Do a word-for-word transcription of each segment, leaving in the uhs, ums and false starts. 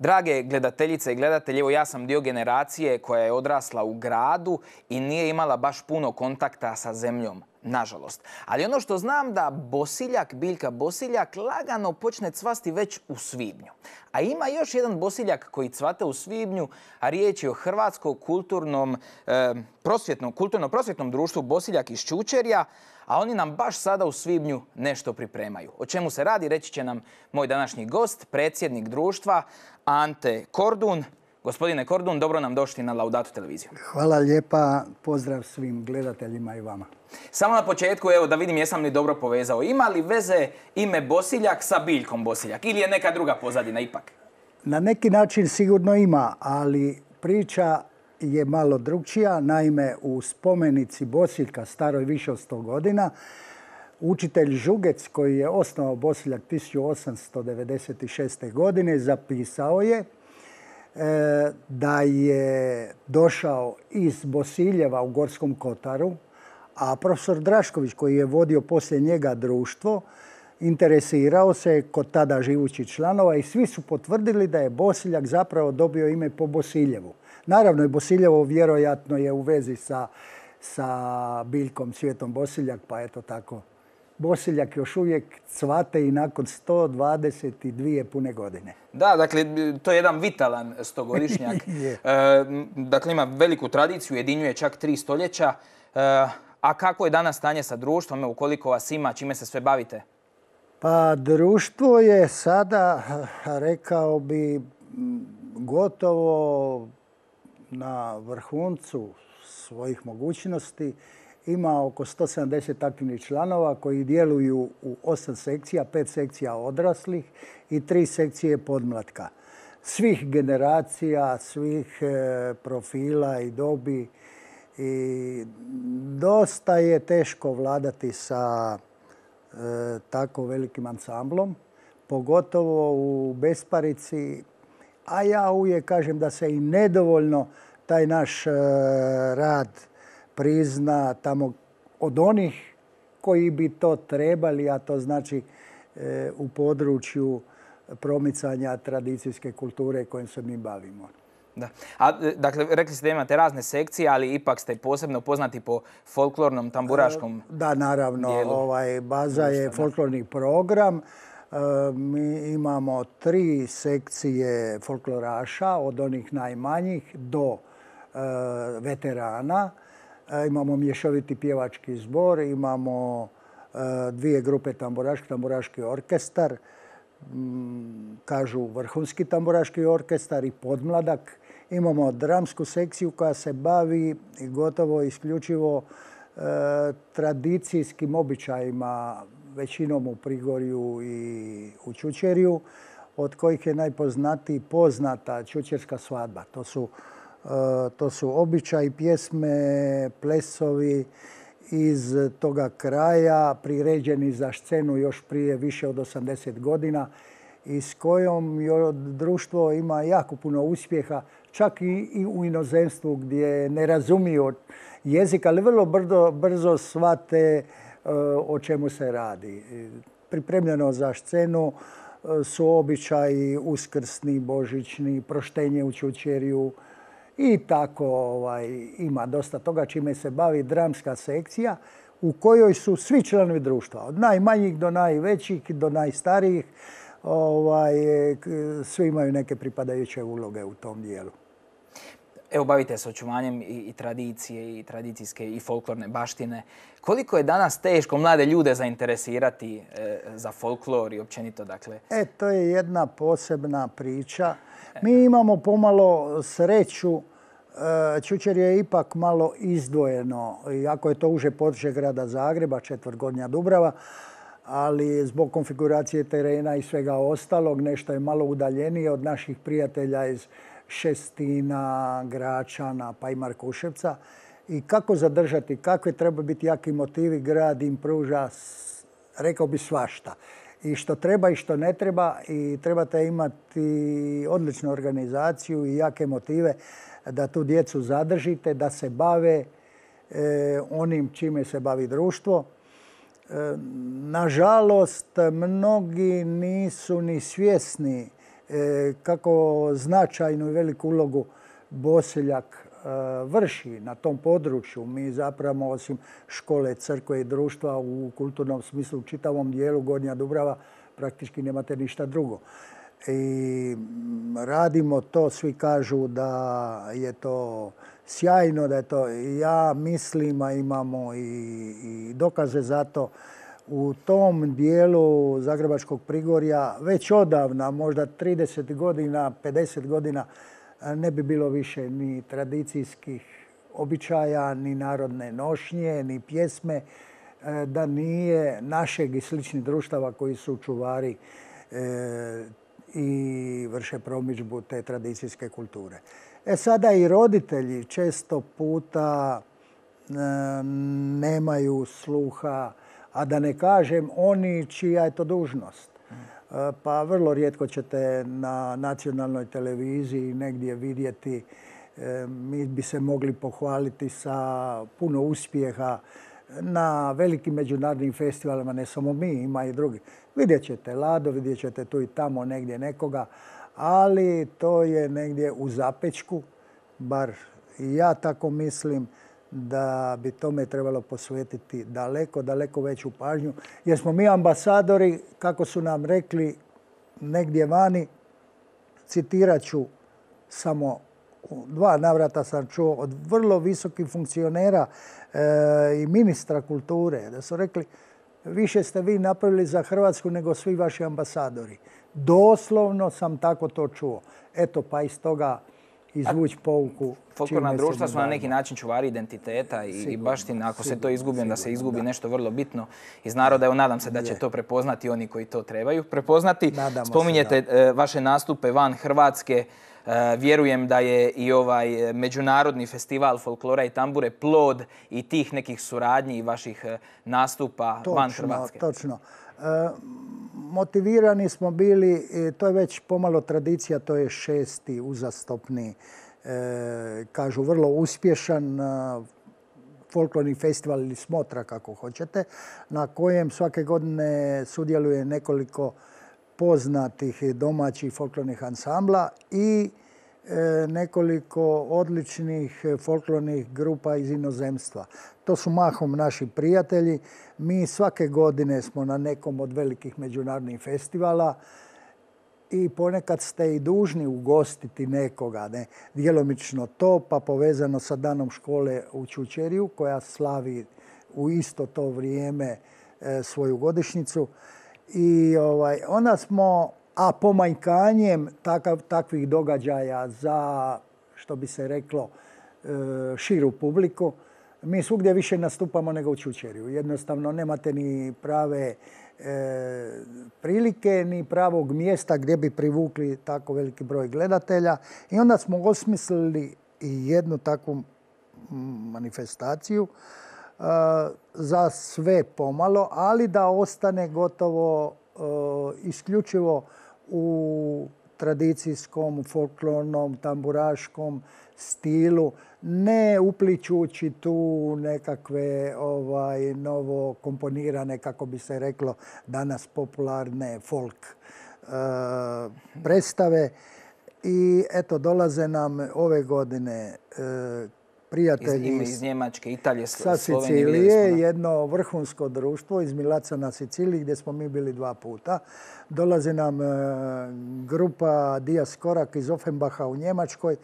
Drage gledateljice i gledatelji, evo ja sam dio generacije koja je odrasla u gradu i nije imala baš puno kontakta sa zemljom, nažalost. Ali ono što znam da bosiljak, biljka bosiljak, lagano počne cvasti već u svibnju. A ima još jedan bosiljak koji cvate u svibnju, a riječ je o Hrvatskom kulturnom eh, prosvjetnom, kulturno-prosvjetnom društvu Bosiljak iz Čučerja, a oni nam baš sada u svibnju nešto pripremaju. O čemu se radi, reći će nam moj današnji gost, predsjednik društva Ante Kordun. Gospodine Kordun, dobro nam došli na Laudato televiziju. Hvala lijepa, pozdrav svim gledateljima i vama. Samo na početku, evo da vidim jesam li dobro povezao. Ima li veze ime Bosiljak sa biljkom Bosiljak ili je neka druga pozadina ipak? Na neki način sigurno ima, ali priča je malo drukčija. Naime, u spomenici Bosiljka, staroj više od sto godina, učitelj Žugec, koji je osnovao Bosiljak tisuću osamsto devedeset šeste. godine, zapisao je da je došao iz Bosiljeva u Gorskom kotaru, a profesor Drašković, koji je vodio poslije njega društvo, interesirao se kod tada živućih članova i svi su potvrdili da je Bosiljak zapravo dobio ime po Bosiljevu. Naravno, i Bosiljevo vjerojatno je u vezi sa, sa biljkom Cvjetom Bosiljak, pa eto tako. Bosiljak još uvijek cvate i nakon sto dvadeset dvije pune godine. Da, dakle, to je jedan vitalan stogodišnjak. e, dakle, ima veliku tradiciju, ujedinjuje čak tri stoljeća. E, a kako je danas stanje sa društvom? Evo, koliko vas ima, čime se sve bavite? Pa društvo je sada, rekao bi, gotovo na vrhuncu svojih mogućnosti. Ima oko sto sedamdeset aktivnih članova koji djeluju u osam sekcija, pet sekcija odraslih i tri sekcije podmlatka. Svih generacija, svih profila i dobi. I dosta je teško vladati sa e, tako velikim ansamblom, pogotovo u besparici. A ja uvijek kažem da se i nedovoljno taj naš e, rad prizna tamo od onih koji bi to trebali, a to znači e, u području promicanja tradicijske kulture kojim se mi bavimo. Da. A, dakle, rekli ste da imate razne sekcije, ali ipak ste posebno poznati po folklornom tamburaškom Da, naravno. Ovaj, baza je folklorni program. E, mi imamo tri sekcije folkloraša, od onih najmanjih do e, veterana. E, imamo mješoviti pjevački zbor, imamo e, dvije grupe tamburaški, tamburaški orkestar, m, kažu vrhunski tamburaški orkestar i podmladak. Imamo dramsku sekciju koja se bavi gotovo isključivo e, tradicijskim običajima, većinom u Prigorju i u Čučerju, od kojih je najpoznatiji poznata čučerska svadba. To su, e, to su običaji, pjesme, plesovi iz toga kraja, priređeni za scenu još prije više od osamdeset godina i s kojom društvo ima jako puno uspjeha, čak i u inozemstvu gdje ne razumiju jezik, ali vrlo brzo, brzo shvate o čemu se radi. Pripremljeno za scenu su običaji uskrsni, božićni, proštenje u Čučerju i tako ovaj, ima dosta toga čime se bavi dramska sekcija u kojoj su svi članovi društva, od najmanjih do najvećih, do najstarijih. Ovaj, svi imaju neke pripadajuće uloge u tom dijelu. Evo, bavite se očuvanjem i, i tradicije, i tradicijske, i folklorne baštine. Koliko je danas teško mlade ljude zainteresirati e, za folklor i općenito, dakle? E, to je jedna posebna priča. Mi imamo pomalo sreću. E, Čučerje je ipak malo izdvojeno, iako je to uže područje grada Zagreba, četvrt Gornja Dubrava, ali zbog konfiguracije terena i svega ostalog nešto je malo udaljenije od naših prijatelja iz Šestina, Gračana pa i Markuševca. I kako zadržati, kakve treba biti jaki motivi, grad im pruža, rekao bi, svašta. I što treba i što ne treba, i trebate imati odličnu organizaciju i jake motive da tu djecu zadržite, da se bave e, onim čime se bavi društvo. Nažalost, mnogi nisu ni svjesni kako značajnu i veliku ulogu Bosiljak vrši na tom području. Mi zapravo osim škole, crkve i društva u kulturnom smislu u čitavom dijelu Gornja Dubrava praktički nemate ništa drugo. I radimo to, svi kažu da je to sjajno, da je to, ja mislim, a imamo i, i dokaze za to, u tom dijelu Zagrebačkog Prigorja već odavna, možda trideset godina, pedeset godina, ne bi bilo više ni tradicijskih običaja, ni narodne nošnje, ni pjesme, da nije našeg i sličnih društava koji su čuvari i vrše promidžbu te tradicijske kulture. E sada i roditelji često puta nemaju sluha, a da ne kažem oni čija je to dužnost. Pa vrlo rijetko ćete na nacionalnoj televiziji negdje vidjeti, mi bi se mogli pohvaliti sa puno uspjeha na velikim međunarodnim festivalima, ne samo mi, ima i drugi. Vidjet ćete Lado, vidjet ćete tu i tamo negdje nekoga, ali to je negdje u zapečku, bar i ja tako mislim, da bi tome trebalo posvetiti daleko, daleko veću pažnju. Jer smo mi ambasadori, kako su nam rekli negdje vani, citirat ću samo u dva navrata sam čuo od vrlo visokih funkcionera e, i ministra kulture, da su rekli više ste vi napravili za Hrvatsku nego svi vaši ambasadori. Doslovno sam tako to čuo. Eto, pa iz toga izvući pouku. Folklorna društva su na neki način čuvari identiteta i, i baština. Ako se to izgubi, onda se izgubi nešto vrlo bitno iz naroda. Evo, nadam se da će to prepoznati oni koji to trebaju prepoznati. Spominjete vaše nastupe van Hrvatske. Vjerujem da je i ovaj međunarodni festival folklora i tambure plod i tih nekih suradnji i vaših nastupa van Hrvatske. Točno. Motivirani smo bili, to je već pomalo tradicija, to je šesti uzastopni, kažu vrlo uspješan folklorni festival ili smotra, kako hoćete, na kojem svake godine sudjeluje nekoliko poznatih domaćih folklornih ansambla i nekoliko odličnih folklornih grupa iz inozemstva. To su mahom naši prijatelji. Mi svake godine smo na nekom od velikih međunarodnih festivala i ponekad ste i dužni ugostiti nekoga. Ne? Djelomično to, pa povezano sa Danom škole u Čučerju, koja slavi u isto to vrijeme e, svoju godišnjicu. I ovaj, onda smo, a pomanjkanjem takav, takvih događaja za, što bi se reklo, e, širu publiku, mi svugdje više nastupamo nego u Čučerju. Jednostavno nemate ni prave e, prilike, ni pravog mjesta gdje bi privukli tako veliki broj gledatelja. I onda smo osmislili i jednu takvu manifestaciju e, za sve pomalo, ali da ostane gotovo e, isključivo u tradicijskom, folklornom, tamburaškom stilu, ne upličući tu nekakve ovaj, novo komponirane, kako bi se reklo danas, popularne folk e, predstave. I eto, dolaze nam ove godine e, prijatelji iz, iz Njemačke, Italije, sa Sicilije, jedno vrhunsko društvo iz Milazza na Siciliji gdje smo mi bili dva puta. Dolazi nam e, grupa Dias Korak iz Offenbacha u Njemačkoj.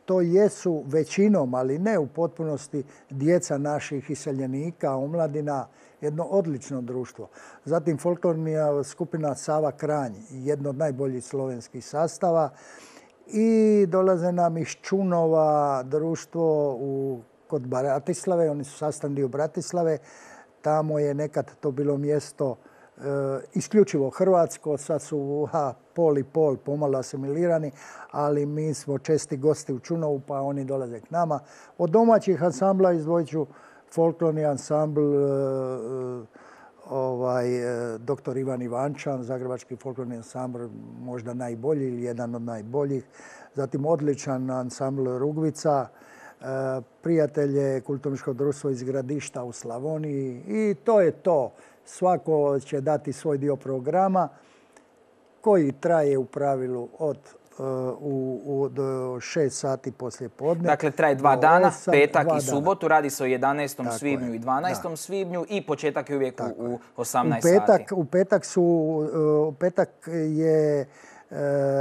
To jesu većinom, ali ne u potpunosti, djeca naših iseljenika, omladina, jedno odlično društvo. Zatim folklorna skupina Sava Kranj, jedno od najboljih slovenskih sastava. I dolaze nam iz Čunova društvo u, kod Bratislave, oni su sastavni dio Bratislave. Tamo je nekad to bilo mjesto e, isključivo hrvatsko, sad su ha, pol i pol pomalo asimilirani, ali mi smo česti gosti u Čunovu pa oni dolaze k nama. Od domaćih ansambla izdvojit ću folklorni ansambl e, ovaj, doktor Ivan Ivančan, zagrebački folklorni ansambl, možda najbolji ili jedan od najboljih. Zatim odličan ansambl Rugvica, prijatelje kulturničkog društva iz Gradišta u Slavoniji i to je to. Svako će dati svoj dio programa koji traje u pravilu od U, u, do šest sati poslije podne. Dakle, traje dva dana, osam, petak dva i subotu. Radi se o jedanaestom Tako svibnju je. i dvanaestom da. svibnju i početak je uvijek Tako u osamnaest u petak, sati. U petak, su, u petak je e,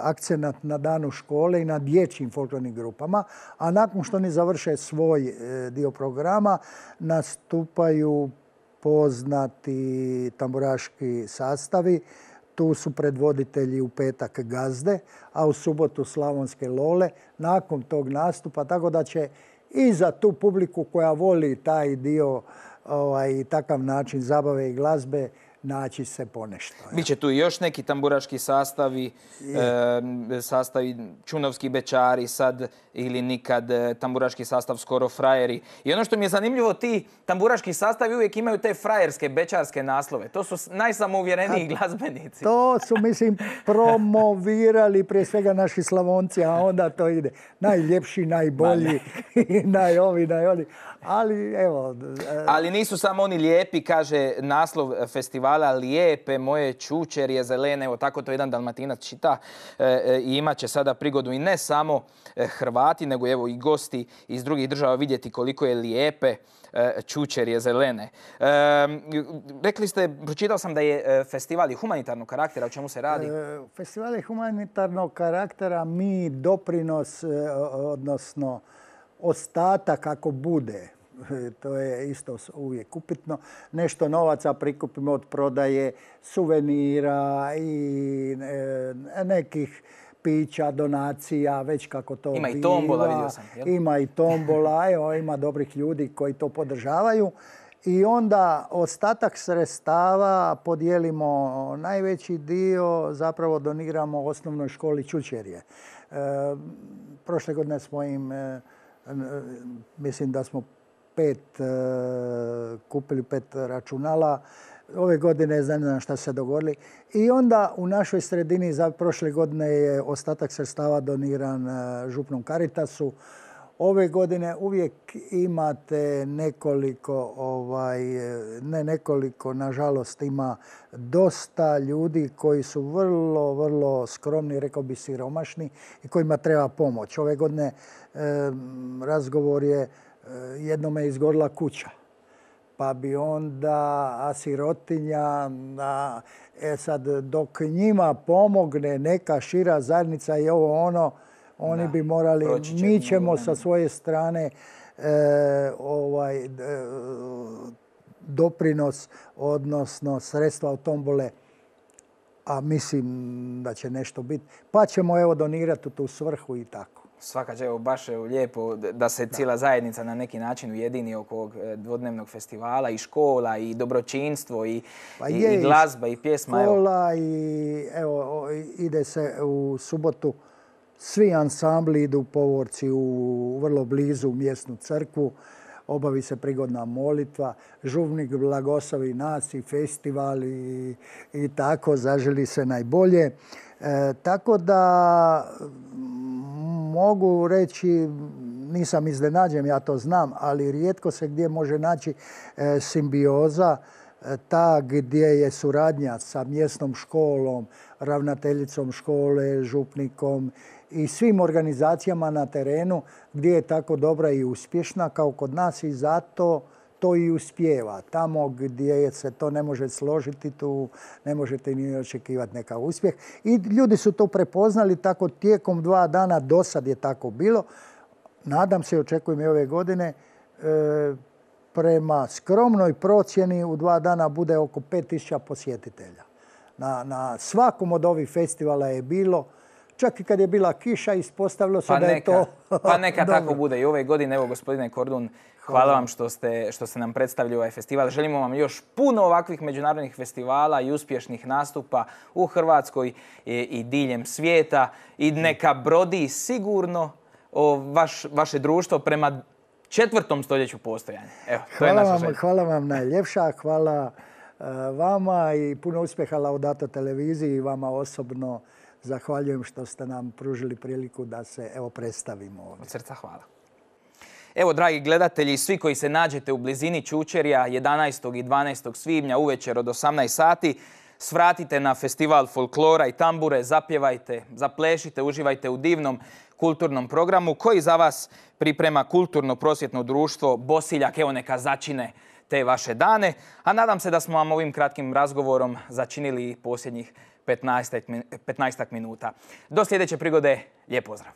akcenat na danu škole i na dječjim folklornim grupama, a nakon što oni završe svoj e, dio programa, nastupaju poznati tamburaški sastavi. Tu su predvoditelji u petak Gazde, a u subotu Slavonske Lole. Nakon tog nastupa, tako da će i za tu publiku koja voli taj dio, ovaj, takav način zabave i glazbe, naći se ponešto. Biće tu još neki tamburaški sastavi, e, sastavi Čunovski bečari sad ili nikad, tamburaški sastav Skoro frajeri. I ono što mi je zanimljivo, ti tamburaški sastavi uvijek imaju te frajerske, bečarske naslove. To su najsamouvjereniji glazbenici. To su, mislim, promovirali prije svega naši Slavonci, a onda to ide. Najljepši, najbolji, najovi, najoli. Ali, evo... Ali nisu samo oni lijepi, kaže naslov festivala, Lijepe moje čučerje zelene. Evo, tako to jedan Dalmatinac čita. E, I imat će sada prigodu i ne samo Hrvati, nego evo i gosti iz drugih država vidjeti koliko je lijepe čučerje zelene. E, rekli ste, pročitao sam da je festival humanitarnog karaktera. O čemu se radi? E, festival je humanitarnog karaktera. Mi doprinos, odnosno ostatak ako bude, to je isto uvijek upitno, nešto novaca prikupimo od prodaje suvenira i nekih pića, donacija, već kako to ima biva. Ima i tombola, vidio sam. Jel? Ima i tombola, evo, ima dobrih ljudi koji to podržavaju. I onda ostatak sredstava podijelimo, najveći dio zapravo doniramo osnovnoj školi Čučerje. E, prošle godine smo im, e, mislim da smo pet, e, kupili pet računala. Ove godine ne znam šta se dogodili. I onda u našoj sredini za prošle godine je ostatak sredstava doniran župnom Caritasu. Ove godine uvijek imate nekoliko, ovaj, ne nekoliko, nažalost ima dosta ljudi koji su vrlo, vrlo skromni, rekao bi siromašni i kojima treba pomoć. Ove godine eh, razgovor je, eh, jednome je izgorila kuća. Pa bi onda, a sirotinja, a, e sad dok njima pomogne neka šira zajednica i ovo ono, oni da, bi morali, mi ćemo sa svoje strane e, ovaj, e, doprinos, odnosno sredstva od tombole, a mislim da će nešto biti, pa ćemo evo donirati u tu svrhu i tako. Svaka će, evo, baš je lijepo da se cijela zajednica na neki način ujedini oko ovog dvodnevnog festivala, i škola, i dobročinstvo, i, pa i, je, i glazba, i pjesma. Škola evo. I evo, ide se u subotu, svi ansambli idu u Povorci u vrlo blizu mjesnu crkvu, obavi se prigodna molitva, župnik blagoslovi nas i festival i, i tako, zaželi se najbolje. E, tako da mogu reći, nisam iznenađen, ja to znam, ali rijetko se gdje može naći e, simbioza, e, ta gdje je suradnja sa mjesnom školom, ravnateljicom škole, župnikom i svim organizacijama na terenu gdje je tako dobra i uspješna kao kod nas i zato to i uspijeva. Tamo gdje se to ne može složiti, tu ne možete ni očekivati nekav uspjeh. I ljudi su to prepoznali tako tijekom dva dana, do sad je tako bilo. Nadam se i očekujem i ove godine, e, prema skromnoj procjeni u dva dana bude oko pet tisuća posjetitelja. Na, na svakom od ovih festivala je bilo, čak i kad je bila kiša, ispostavilo se pa da neka, je to Pa neka tako bude i ove godine. Evo, gospodine Kordun, hvala, hvala vam što ste, što ste nam predstavili ovaj festival. Želimo vam još puno ovakvih međunarodnih festivala i uspješnih nastupa u Hrvatskoj i, i diljem svijeta. I neka brodi sigurno o vaš, vaše društvo prema četvrtom stoljeću postojanja. Evo, to hvala je naša vam, želja. hvala vam najljepša, hvala uh, vama i puno uspjeha Laudato televiziji i vama osobno. Zahvaljujem što ste nam pružili priliku da se evo predstavimo ovdje. Od srca hvala. Evo, dragi gledatelji, svi koji se nađete u blizini Čučerja jedanaestog i dvanaestog svibnja uvečer od osamnaest sati, svratite na festival folklora i tambure, zapjevajte, zaplešite, uživajte u divnom kulturnom programu koji za vas priprema kulturno-prosvjetno društvo Bosiljak. Evo neka začine te vaše dane. A nadam se da smo vam ovim kratkim razgovorom začinili posljednjih petnaestak minuta. Do sljedeće prigode, lijep pozdrav!